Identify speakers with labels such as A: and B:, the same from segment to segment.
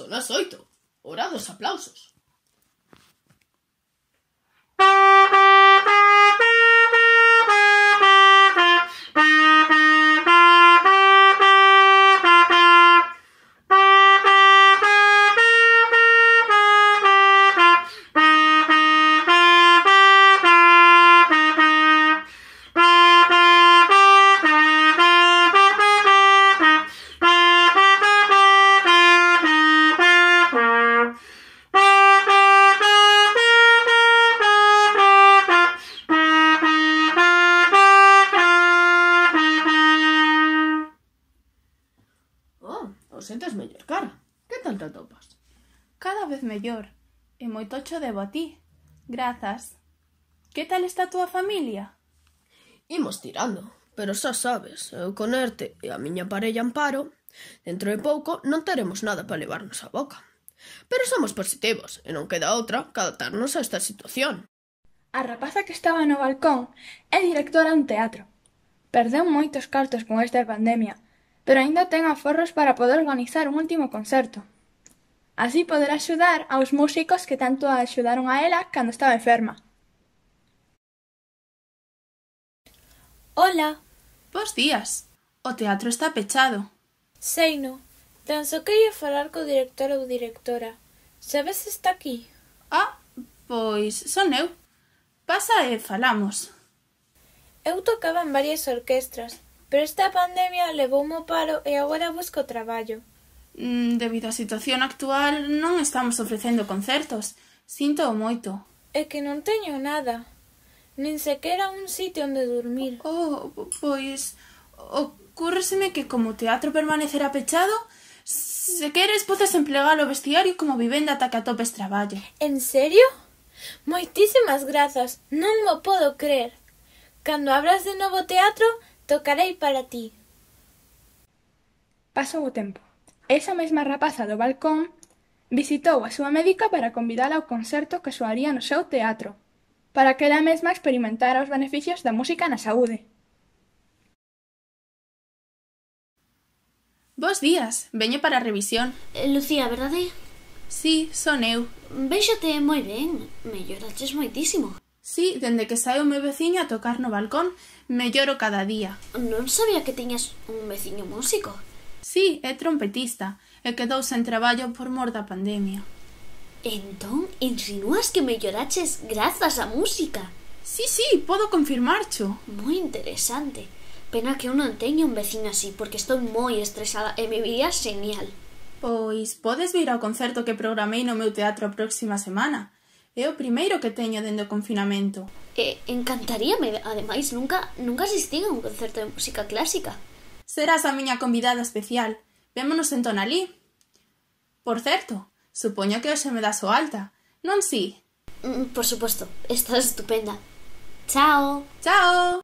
A: Son as 8. Hora dos aplausos. O sentes mellor, cara. Que tal te atopas?
B: Cada vez mellor. E moito cho debo a ti. Grazas. Que tal está a túa familia?
A: Imos tirando, pero xa sabes, eu con Erte e a miña parella Amparo, dentro de pouco non teremos nada para levarnos a boca. Pero somos positivos e non queda outra que adaptarnos a esta situación.
C: A rapaza que estaba no balcón é directora dun teatro. Perdeu moitos cartos con esta pandemia, pero aínda ten aforros para poder organizar un último concerto. Así poderá axudar aos músicos que tanto a axudaron a ela cando estaba enferma.
D: Hola.
B: Bos días. O teatro está pechado.
D: Seino. Tan só quería falar co director ou directora. Sabes se está aquí?
B: Ah, pois son eu. Pasa e falamos.
D: Eu tocaba en varias orquestras, pero esta pandemia levoume ao paro e agora busco traballo.
B: Debido á situación actual non estamos ofrecendo concertos. Síntoo moito.
D: É que non teño nada. Nin sequera un sitio onde dormir.
B: Oh, pois ocúrreseme que como o teatro permanecerá pechado, se queres podes emplegar o vestiario como vivenda ata que atopes traballo.
D: En serio? Moitísimas grazas. Non mo podo crer. Cando abras de novo teatro, tocarei para ti.
C: Pasou o tempo. Esa mesma rapaza do balcón visitou a súa médica para convidala ao concerto que soaría no seu teatro, para que ela mesma experimentara os beneficios da música na saúde.
B: Bos días, veño para a revisión.
E: Lucía, verdade?
B: Sí, son eu.
E: Véxote moi ben, melloraches moitísimo.
B: Sí, dende que sae o meu veciño a tocar no balcón, melloro cada día.
E: Non sabía que tiñas un veciño músico.
B: Sí, é trompetista, e quedou sen traballo por mor da pandemia.
E: Entón, insinúas que melloraches grazas á música?
B: Sí, podo confirmarcho.
E: Moi interesante. Pena que eu non teño un veciño así, porque estou moi estresada e me viría genial.
B: Pois podes vir ao concerto que programei no meu teatro a próxima semana. É o primeiro que teño dende o confinamento.
E: Encantaríame, ademais, nunca asistín a un concerto de música clásica.
B: Serás a miña convidada especial. Vémonos entón alí. Por certo, supoño que hoxe me das o alta, non si?
E: Por suposto, estás estupenda. Chao.
B: Chao.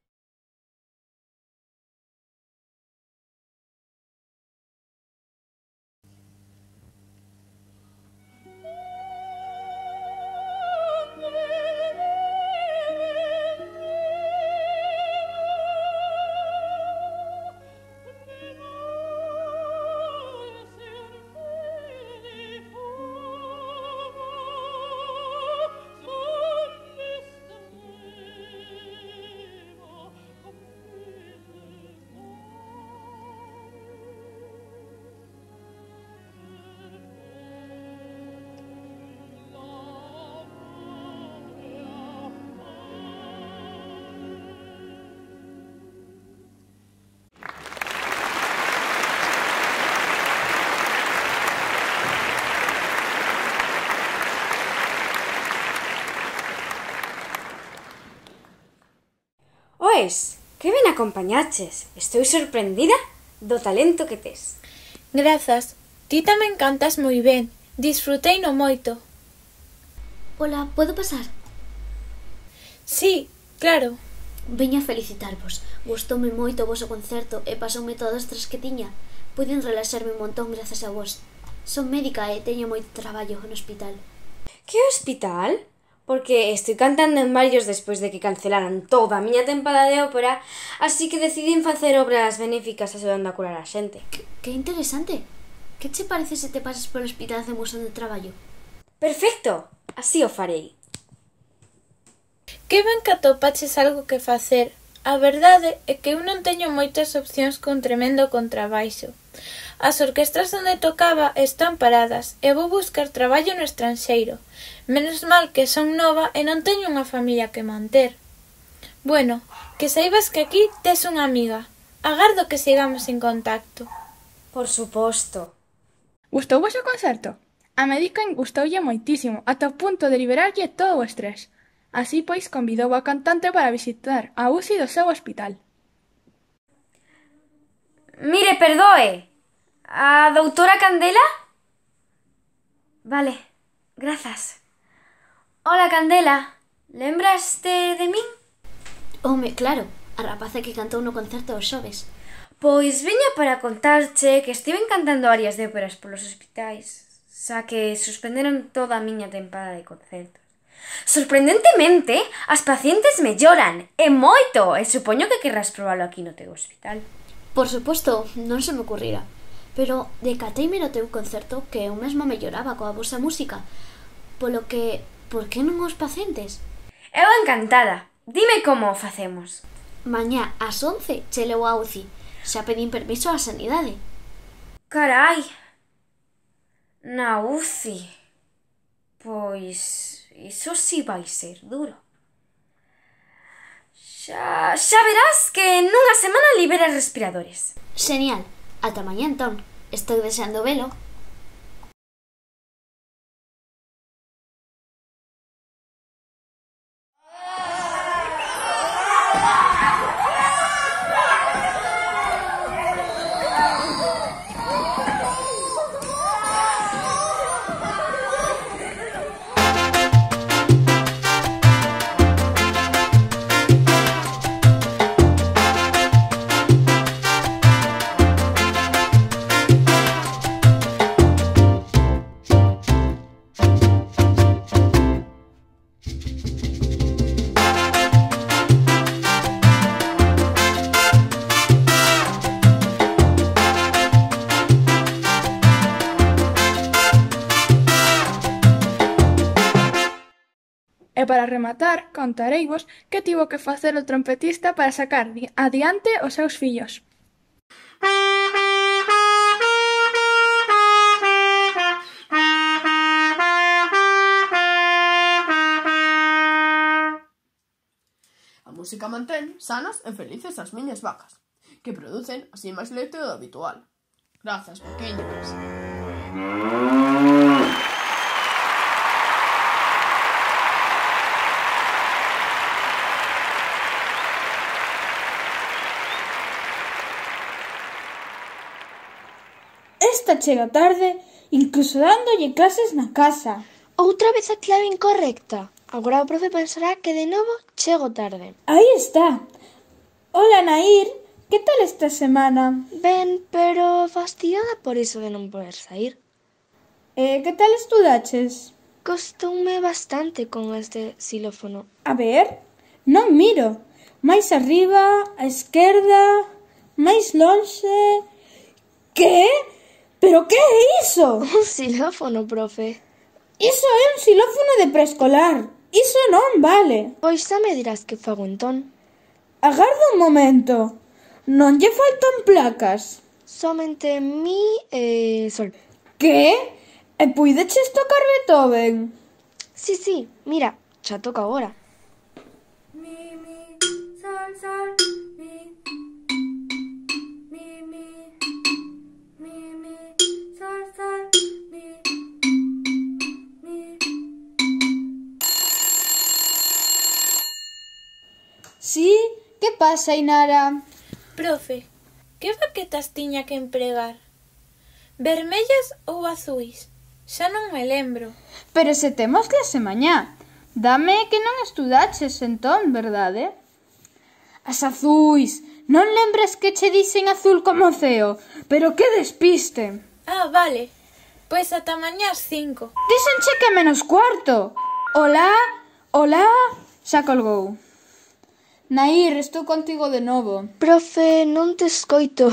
F: Oes, que ben acompañaches. Estou sorprendida do talento que tes.
D: Grazas. Ti tamén cantas moi ben. Disfruteino moito.
E: Hola, podo pasar?
D: Sí, claro.
E: Veño a felicitarvos. Gustoume moito o voso concerto e pasoume todo o estrés que tiña. Puiden relaxarme un montón grazas a vos. Son médica e teño moito traballo no hospital.
F: Que hospital? Porque estou cantando en varios despois de que cancelaran toda a miña tempada de ópera, así que decidín facer obras benéficas axudando a curar a xente.
E: Que interesante. Que che parece se te pasas polo hospital e hacemos onde traballo?
F: Perfecto, así o farei.
D: Que ben que atopaches algo que facer. A verdade é que eu non teño moitas opcións cun tremendo contrabaixo. As orquestras onde tocaba están paradas e vou buscar traballo no estranxeiro. Menos mal que son nova e non teño unha familia que manter. Bueno, que saibas que aquí tes unha amiga. Agardo que sigamos en contacto.
F: Por suposto.
C: Gustouvos o concerto? A médica gustoulle moitísimo, ata o punto de liberarlle todo o estrés. Así pois convidou a cantante para visitar a UCI do seu hospital.
F: Mire, perdoe. A doutora Candela? Vale, grazas. Hola, Candela. Lembraste de min?
E: Home, claro, a rapaza que cantou no concerto dos xoves.
F: Pois veña para contarche que estiven cantando arias de óperas polos hospitais, xa que suspenderon toda a miña tempada de concertos. Sorprendentemente, as pacientes melloran, e moito, e supoño que querrás probalo aquí no teu hospital.
E: Por suposto, non se me ocurrira. Pero decateime no teu concerto que eu mesmo melloraba coa vosa música. Polo que, por que non os pacientes?
F: Eu encantada. Dime como o facemos.
E: Mañá ás 11 che leo a UCI. Xa pedín permiso á sanidade.
F: Carai. Na UCI. Pois iso si vai ser duro. Xa verás que nunha semana liberas respiradores.
E: Genial. Ata mañá entón. Estou deseando velo.
C: E para rematar, contareivos que tivo que facer o trompetista para sacar adiante os seus fillos.
A: A música mantén sanas e felices as miñas vacas, que producen así máis leite do habitual. Grazas, pequeñas.
B: Esta chega tarde, incluso dándolle clases na casa.
G: Outra vez a clave incorrecta. Agora o profe pensará que de novo chego tarde.
B: Aí está. Hola, Nair. Que tal esta semana?
G: Ben, pero fastidiada por iso de non poder sair.
B: Que tal estudaches?
G: Costoume bastante con este xilófono.
B: A ver, non miro. Máis arriba, á esquerda, máis lonxe... Que? Pero que é iso?
G: Un xilófono, profe.
B: Iso é un xilófono de preescolar. Iso non vale.
G: Pois xa me dirás que fago entón.
B: Agarda un momento. Non lle faltan placas.
G: Somente mi e sol.
B: Que? E puideches tocar Beethoven?
G: Sí, mira, xa toca agora.
H: Mi, sol, sol, mi, sol, sol, mi.
B: Sí? Que pasa, Inara?
D: Profe, que baquetas tiña que empregar? Vermellas ou azuis? Xa non me lembro.
B: Pero se temos clase mañá. Dame que non estudaches entón, verdade? As azuis. Non lembres que che dixen azul como o ceo? Pero que despiste.
D: Ah, vale. Pois ata mañá ás 5.
B: Díxenche que menos cuarto. Hola, hola. Xa colgou. Nair, estou contigo de novo.
G: Profe, non te escoito.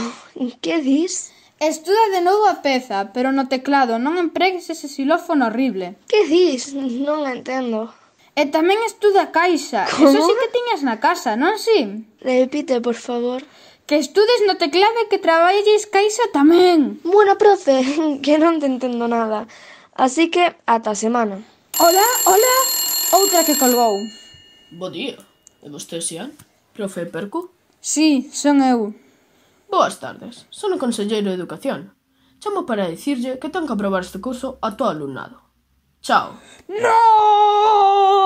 G: Que dis?
B: Estuda de novo a peza, pero no teclado non empregues ese xilófono horrible.
G: Que dis? Non entendo.
B: E tamén estuda a caixa.
G: Como?
B: Eso sí que tiñas na casa, non si?
G: Repite, por favor.
B: Que estudes no teclado e que traballes caixa tamén.
G: Bueno, profe, que non te entendo nada. Así que, ata a semana.
B: Hola, hola. Outra que colgou.
A: Bo día. E vostede, Xian? Profe Percu?
B: Sí, son eu.
A: Boas tardes. Son o conselleiro de Educación. Chamo para dicirlle que ten que aprobar este curso a todo alumnado. Chao.
B: ¡No!